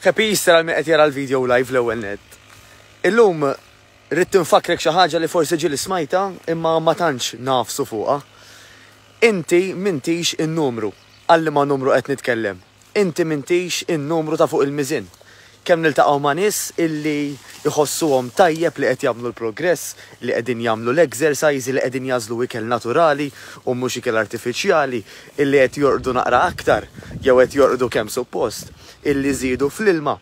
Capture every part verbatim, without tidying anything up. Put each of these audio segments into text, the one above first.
Happy Easter għal min qed jara l-video live l-ewwel net. Illum rrid nfakkrek xi ħaġa li forsi ġieli smajta imma ma tantx nagħfsu fuqha. Inti m'intix in-numru. Għal liema numru qed nitkellem? Inti m'intix in-numru ta' fuq il-miżin. Kemm niltaqgħu ma' nies illi jħossuhom tajjeb li qed jagħmlu l-progress, li qegħdin jagħmlu l-exercise, li qegħdin jagħżlu ikel naturali u mhux ikel artifiċjali, illi qed jorqdu naqra aktar jew qed jorqdu kemm suppost, illi żiedu fl-ilma.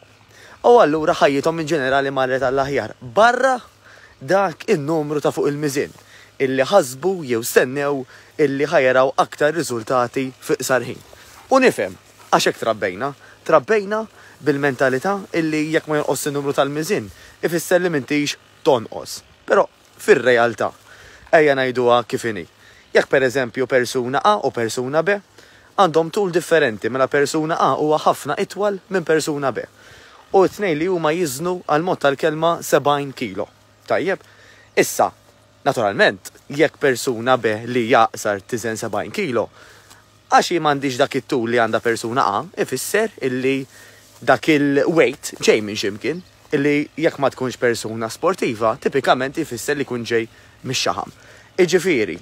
U allura ħajjithom in ġenerali marret għall-aħjar. Barra dak in-numru ta' fuq il-miżin illi ħasbu jew stennew illi ħa jaraw aktar riżultati fi qsar ħin. U nifhem, għax hekk trabbejna, trabbejna bil-mentalità illi jekk ma jonqos in-numru tal-miżin, ifisser li m'intix tonqos. Però fir-realtà, ejja ngħiduha kif inhi. Jekk pereżempju persuna A u persuna B għandhom tul differenti, mela persuna A huwa ħafna itwal minn persuna B. U t-tnejn li huma jiżnu għal mod tal-kelma sebgħin kilo. Tajjeb, issa, naturalment, jekk persuna B li jaqsar tiżen sebgħin kilo, għax hi m'għandix dak it-tul li għandha persuna A, ifisser illi dak il-weight ġej minn x'imkien, illi jekk ma tkunx persuna sportiva, tipikament ifisser li kun ġej mix-xaħam. Iġifieri,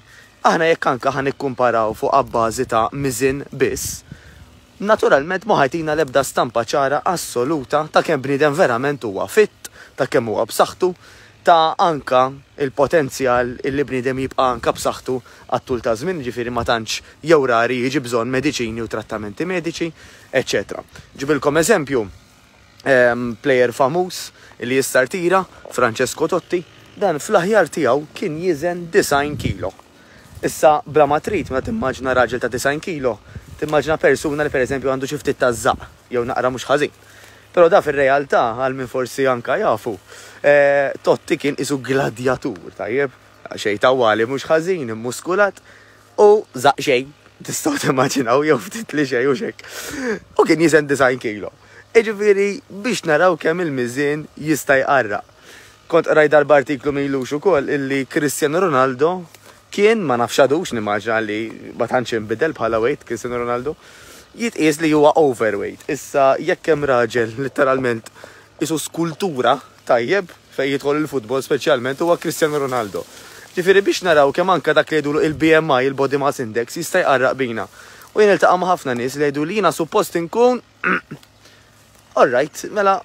aħna jekk anka ħa nikkumparaw fuq abbażi ta' miżin biss, naturalment ma ħajtina l-ebda stampa ċara assoluta ta' kemm bniedem verament huwa fit, ta' kemm huwa b'saħħtu, ta' anka il-potenzjal illi bniedem jibqa' anka b'saħħtu għat-tul ta' żmien, ġifieri ma tantx jew rari jiġi bżonn mediċini u trattamenti mediċi, eċċetera. Ġibilkom eżempju, ehm, player famuż li issa rtira, Francesco Totti, dan fl-aħjar tiegħu kien jiżen disgħin kilo. Issa bla ma trid, meta timmaġna raġel ta' disgħin kilo, timmaġna persuna li pereżempju għandu xi ftit ta' żaq jew naqra mhux ħażin. Però da fir-realtà, għal min forsi anka jafu, eh, Totti kien isu gladjatur, tajjeb, xejn tawwali mhux ħażin, immuskulat u żaq xejn, tistgħu timmaġinaw jew ftit li xejn u xek. U kien jiżen disgħin kilo. Iġifieri biex naraw kemm il-miżien jista' jqarraq. Kont qrajt darba artiklu m'ilux ukoll illi Cristiano Ronaldo kien, ma nafx għadux, nimmaġina li ma tantx inbidel bħala weight Cristiano Ronaldo, jitqies li huwa overweight. Issa jekk hemm raġel letteralment isu skultura tajjeb fejn jidħol il-futbol speċjalment huwa Cristiano Ronaldo. Ġifieri biex naraw kemm anka dak li jgħidulu il-B M I, il-Body Mass Index, jista' jqarraq bina. U jien niltaqa' ma' ħafna nies li jgħidu li jiena suppost inkun All right, mela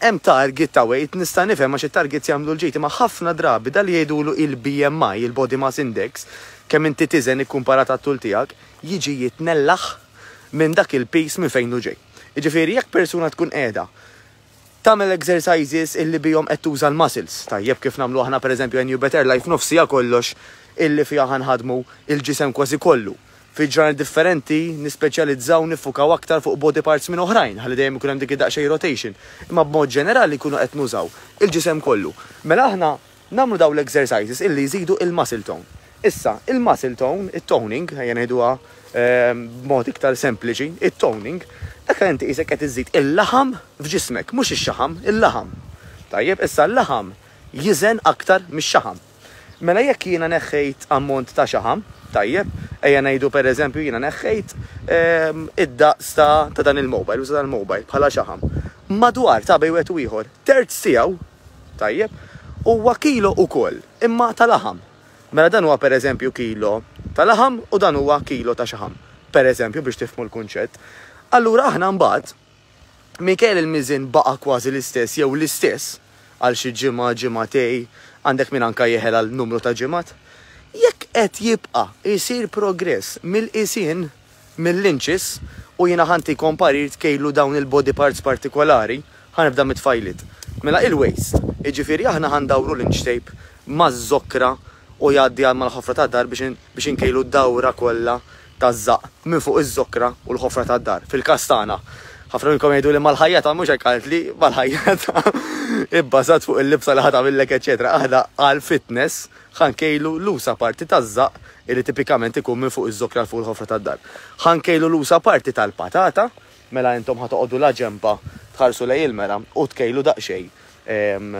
hemm target ta' weight, nista' nifhem għax it-targets jagħmlu l-ġid, imma ħafna drabi dal li jgħidulu il-B M I, il-Body Mass Index, kemm inti tiżen ikkumparat għat-tul tiegħek, jiġi jitnellaħ minn dak il-piż minn fejn hu ġej. Jiġifieri jekk persuna tkun qiegħda tagħmel exercises illi bihom qed tuża l-muscles, tajjeb kif nagħmlu aħna pereżempju New Better Life nofsija kollox illi fiha ħanħadmu il-ġisem kważi kollu. Fi ġranet differenti nispeċjalizzaw nifukaw aktar fuq body parts minn oħrajn, ħalli dejjem ikun hemm dik id-daqsxejn rotation. Imma b'mod ġenerali jkunu qed nużaw il-ġisem kollu. Mela aħna nagħmlu dawn l-exercises illi jżidu il-muscle tone. Issa, il-muscle tone, it-toning, ejja ngħiduha, ehm, b'mod iktar sempliċi, it-toning, dak inti qisek qed iżid il-laħam f'ġismek, mhux ix-xaħam, il-laħam. Tajjeb, issa l-laħam jiżen aktar mix-xaħam. Mela jekk jiena neħħejt ammont ta' xaħam, tajjeb, ejja ngħidu pereżempju jiena neħħejt, ehm, id-daqs ta', ta' dan il-mobile, uża dan il-mobile bħala xaħam. Madwar ta' bejn wieħed u ieħor, terz tiegħu, tajjeb, huwa kilo ukoll, imma ta' laħam. Mela dan huwa pereżempju kilo ta' laħam u dan huwa kilo ta' xaħam. Pereżempju biex tifhmu l-kunċett. Allura aħna mbagħad minkejja il-miżin baqa' kważi l-istess jew l-istess għal xi ġimgħa, ġimgħatej, għandek min anka jeħel għal numru ta' ġimgħat. Jekk qed jibqa' jsir progress mill-qisien mill-inches u jiena ħanti komparir tkejlu dawn il-body parts partikolari, ħanibda mit-tfajliet. Mela il-waist, jiġifieri aħna ħandawru l-inch tape maż-żokra u jgħaddi għal mal-ħofra tad-dar biex in-, biex inkejlu d-dawra kollha taż-żaq minn fuq iż-żokra u l-ħofra tad-dar. Fil-każ tagħna, ħafna minnkom jgħidu li mal-ħajjata mhux hekk qalt li mal-ħajjata ibbażat fuq il-libsa li ħadd għamillek, eċċetera. Aħna għal fitness ħankejlu l-usa parti taż-żaq illi tipikament ikun minn fuq iż-żokra fuq il-ħofra tad-dar. Ħankejlu l-usa parti tal-patata, mela intom ħatoqogħdu la ġempa tħarsu lejn il-mera u tkejlu daqsxejn, ehm,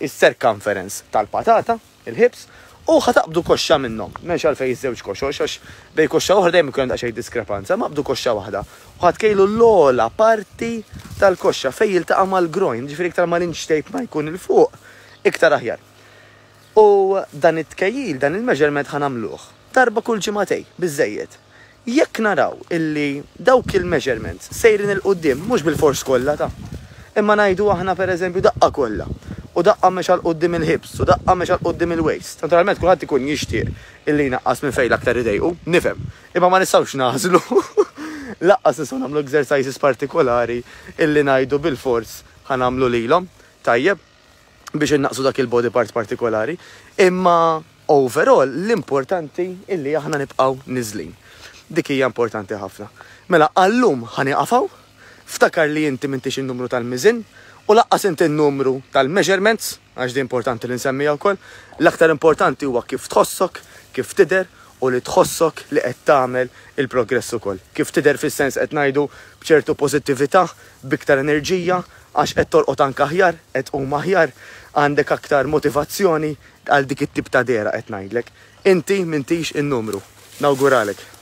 is-circumference tal-patata, il-hips, u ħataqbdu koxxa minnhom. M'hemmx għalfejn iż-żewġ koxox, għax bej koxxa oħra dejjem ikun hemm daqsxejn diskrepanza, ma qbdu koxxa waħda. U ħatkejlu l-ogħla parti tal-koxxa fejn jiltaqa' mal-groin, ġifieri iktar ma l-inch tape ma jkun 'il fuq, iktar aħjar. U dan it-tkejjil, dan il-measurement, ħa nagħmluh darba kull ġimagħtejn, biżejjed. Jekk naraw illi dawk il-measurements sejrin 'il quddiem, mhux bil-fors kollha ta', imma ngħidu aħna, per eżempju, daqqa kollha, u daqqa mexa 'l quddiem il-hips, u daqqa mexa 'l quddiem il-waist. Naturalment kulħadd ikun jixtieq illi jnaqqas minn fejn l-aktar idejqu, nifhem. Imma ma nistgħux nagħżlu. Lanqas nistgħu nagħmlu exercises partikolari illi ngħidu bil-fors ħa nagħmlu lilhom. Tajjeb, biex innaqsu dak il-body part partikolari. Imma overall l-importanti illi aħna nibqgħu niżlin. Dik hija importanti ħafna. Mela għallum ħa nieqaf hawn, ftakar li inti m'intix il-numru tal-miżin u lanqas inti il-numru tal-measurements, għax di importanti li nsemmija wkoll. L-aktar importanti huwa kif tħossok, kif tidher u li tħossok li qed tagħmel il-progress ukoll. Kif tidher fis-sens qed ngħidu b'ċertu pożittività, b'iktar enerġija, għax qed torqod anke aħjar, qed tqum aħjar, għandek aktar motivazzjoni għal dik it-tip ta' dehra qed ngħidlek. Inti m'intix in-numru. Nawguralek.